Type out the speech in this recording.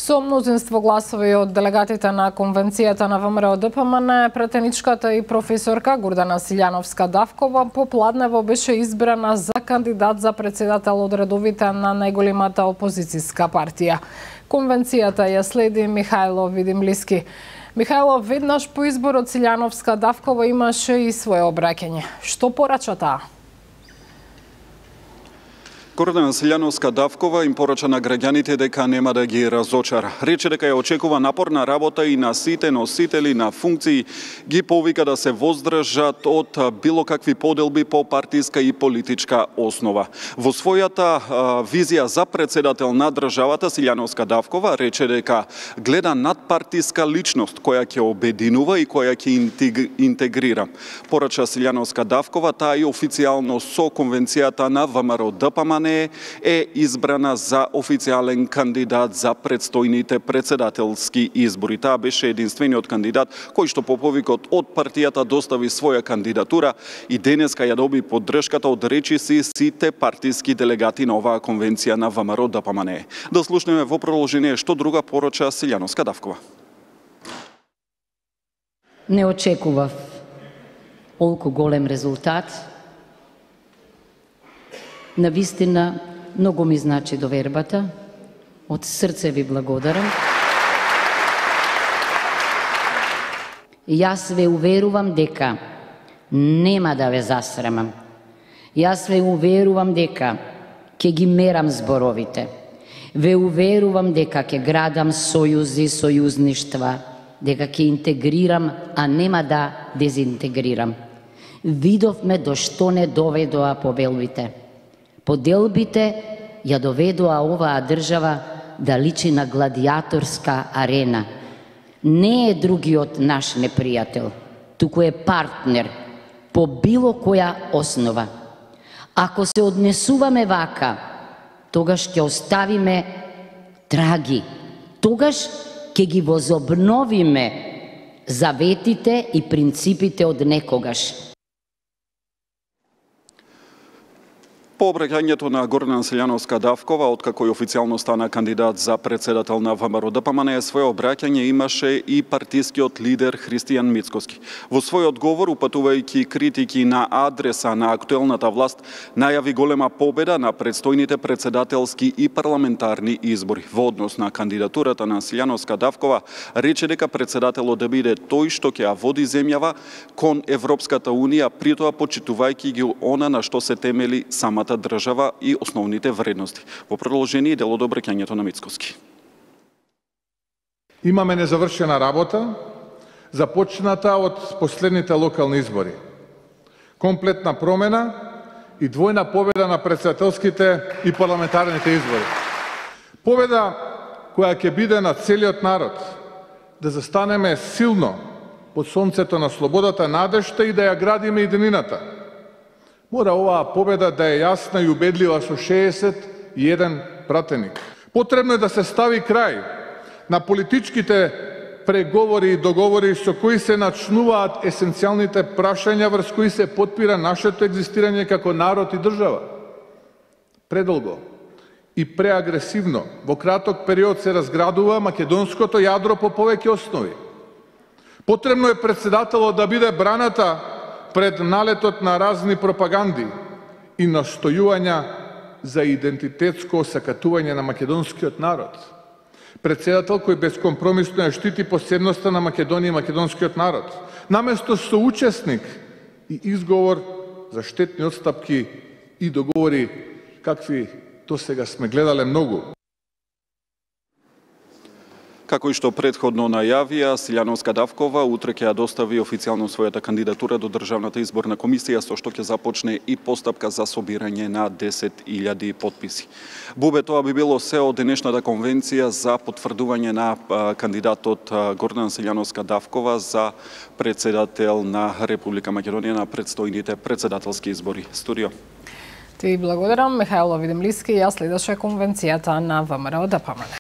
Со мнозинство гласови од делегатите на Конвенцијата на ВМРО-ДПМН, претеничката и професорка Гордана Силјановска-Давкова попладнево беше избрана за кандидат за председател од редовите на најголемата опозицијска партија. Конвенцијата ја следи Михајло Видимлиски. Михајло, веднаш по изборот Силјановска-Давкова имаше и свое обраќање. Што порача таа? Гордана Силјановска-Давкова им порача на граѓаните дека нема да ги разочара. Рече дека ја очекува напорна работа и на сите носители на функции, ги повика да се воздржат од било какви поделби по партиска и политичка основа. Во својата визија за председател на државата, Силјановска-Давкова рече дека гледа надпартиска личност која ќе обединува и која ќе интегрира. Порача Силјановска-Давкова, таа и официјално со Конвенцијата на ВМРО-ДПМН е избрана за официјален кандидат за предстојните председателски избори. Таа беше единствениот кандидат кој што по повикот од партијата достави своја кандидатура и денеска ја доби поддршката од речиси сите партиски делегати на оваа конвенција на ВМРО-ДПМН. Да слушнеме во продолжение што друга порача Силјановска-Давкова. Не очекував толку голем резултат. Навистина, многу ми значи довербата. Од срце ви благодарам. Јас ве уверувам дека нема да ве засрамам. Јас ве уверувам дека ќе ги мерам зборовите. Ве уверувам дека ќе градам сојузи, сојузништва, дека ќе интегрирам, а нема да дезинтегрирам. Видовме до што не доведоа побелбите. Поделбите ја доведоа оваа држава да личи на гладиаторска арена. Не е другиот наш непријател, туку е партнер по било која основа. Ако се однесуваме вака, тогаш ќе оставиме траги. Тогаш ќе ги возобновиме заветите и принципите од некогаш. По обраќањето на Гордана Силјановска-Давкова, откако и официјално стана кандидат за председател на ВМРО-ДПМН, своје обраќање имаше и партискиот лидер Христијан Мицкоски. Во свој одговор, упатувајќи критики на адреса на актуелната власт, најави голема победа на предстојните председателски и парламентарни избори. Во однос на кандидатурата на Силјановска-Давкова, рече дека председателот да биде тој што ќе ја води земјава кон Европската Унија, при тоа почитувајќи ги она на што се темели самата држава и основните вредности. Во продолжение дел од обраќањето на Мицкоски. Имаме незавршена работа, започната од последните локални избори. Комплетна промена и двојна победа на председателските и парламентарните избори. Победа која ќе биде на целиот народ, да застанеме силно под сонцето на слободата, надежта и да ја градиме единината. Мора оваа победа да е јасна и убедлива со 61 пратеник. Потребно е да се стави крај на политичките преговори и договори со кои се начнуваат есенцијалните прашања врз кои се потпира нашето екзистирање како народ и држава. Предолго и преагресивно во краток период се разградува македонското јадро по повеќе основи. Потребно е председателот да биде браната пред налетот на разни пропаганди и настојувања за идентитетско осакатување на македонскиот народ. Председател кој безкомпромисно ја штити посебноста на Македонија и македонскиот народ, наместо соучесник и изговор за штетни отстапки и договори какви досега сме гледале многу. Како и што претходно најавија, Силјановска-Давкова утре ќе ја достави официјално својата кандидатура до Државната изборна комисија, со што ќе започне и постапка за собирање на 10.000 потписи. Бубе, тоа би било се од денешната конвенција за потврдување на кандидатот Гордана Силјановска-Давкова за председател на Република Македонија на предстојните председателски избори. Студио. Ти благодарам, Михајло Видимлиски, ја следеше конвенцијата на ВМРО-ДПМН.